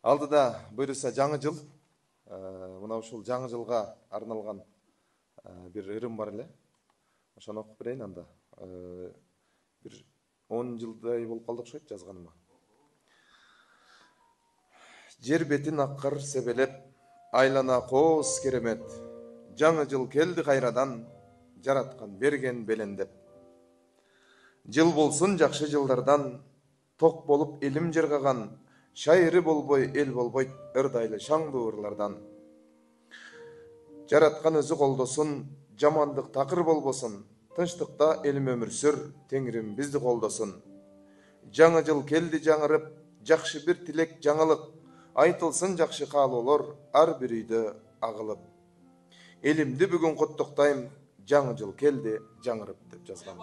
Алдыда буюрса жаңы жыл. Мына ушул жаңы жылга арналган бир ырым бар эле. Ошону окуп берейин анда. Бир 10 жылдай болуп калды окшойт жазганыма. Жер бетин аккар себелеп, айлана кооз керемет. Жаңы жыл келди кайрадан, жараткан берген белендеп. Жыл болсун жакшы жылдардан, ток болуп элим жыргаган, шайыры болбой эл болбойт ырдайлы шаңдуу ырлардан. Жараткан өзү колдосун, жамандык такыр болбосун, тынчтыкта элим өмүр сүр, Теңирим бизди колдосун. Жаңы жыл келди жаңырып, жакшы бир тилек жаңылык, айтылсын жакшы каалоолор ар бир үйдө агылып. Элимди бүгүн куттуктайм, жаңы жыл келди жаңырып деп жазгам.